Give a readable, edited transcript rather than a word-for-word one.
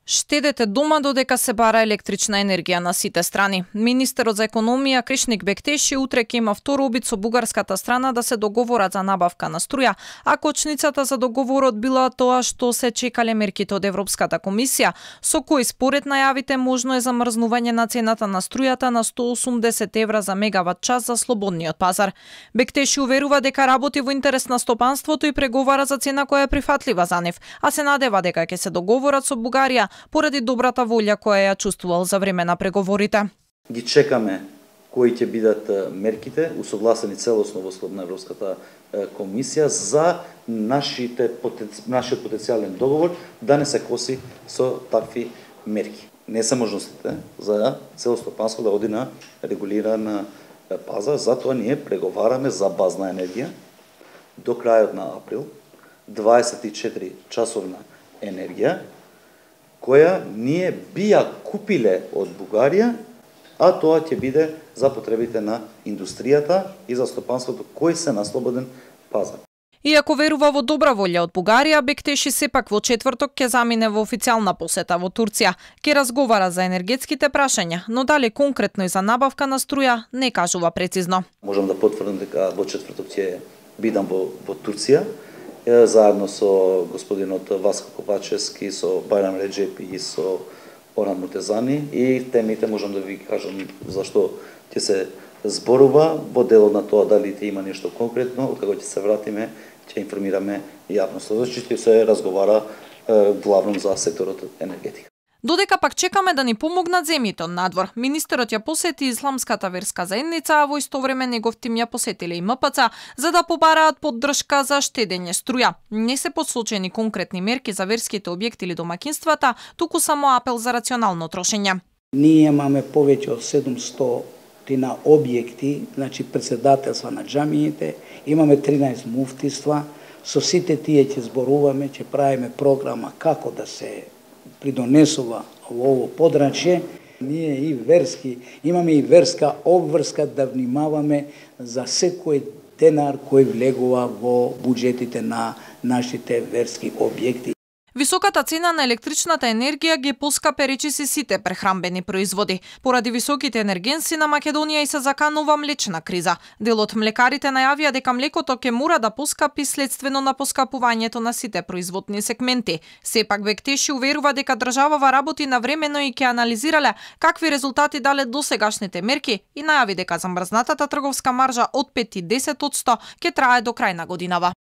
Штедете дома додека се бара електрична енергија на сите страни. Министерот за економија Кришник Бектеши утре ќе има втор обид со бугарската страна да се договорат за набавка на струја, а кочницата за договорот била тоа што се чекале мерките од Европската комисија, со кои според најавите можно е замрзнување на цената на струјата на 180 евра за мегават час за слободниот пазар. Бектеши уверува дека работи во интерес на стопанството и преговара за цена која е прифатлива за нив, а се надева дека ќе се договорат со Бугарија поради добрата волја која ја чувствувал за време на преговорите. Ги чекаме кои ќе бидат мерките, усогласени целосно во скоп на Европската комисија за нашиот потенцијален договор да не се коси со такви мерки. Не се можностите за цело стопанство да оди на регулиран пазар, затоа ние преговараме за базна енергија до крајот на април, 24 часовна енергија, која ние би ја купиле од Бугарија, а тоа ќе биде за потребите на индустријата и за стопанството кој се на слободен пазар. Иако верува во добра волја од Бугарија, Бектеши сепак во четврток ќе замине во официјална посета во Турција. Ќе разговара за енергетските прашања, но дали конкретно и за набавка на струја не кажува прецизно. Можам да потврдам дека во четврток ќе бидам во Турција, заедно со господинот Васко Копачевски, со Бајрам Реджепи и со Оран Мутезани, и темите можам да ви кажам зашто ќе се зборува во делот на тоа дали ќе има нешто конкретно, откако ќе се вратиме ќе информираме јавноста. Значи ќе се разговара главно за секторот енергетика. Додека пак чекаме да ни помогнат земјите од надвор, министерот ја посети исламската верска заедница, а во исто време негов тим ја посетиле и МПЦ за да побараат поддршка за штедење струја. Не се посочени конкретни мерки за верските објекти или домакинствата, туку само апел за рационално трошење. Ние имаме повеќе од 700 на објекти, значи председателства на џамиите, имаме 13 муфтиства, со сите тие ќе зборуваме, ќе правиме програма како да се придонесува во ово подрачје. Ние и верски, имаме и верска обврска да внимаваме за секој денар кој влегува во буџетите на нашите верски објекти. Високата цена на електричната енергија ги поскапе речиси сите прехранбени производи. Поради високите енергенси на Македонија и се заканува млечна криза. Дел од млекарите најавија дека млекото ќе мора да поскапи следствено на поскапувањето на сите производни сегменти. Сепак Бектеши уверува дека државава работи навремено и ќе анализирале какви резултати дале досегашните мерки и најави дека замрзнатата трговска маржа од 5 и 10% ќе трае до крај на годинава.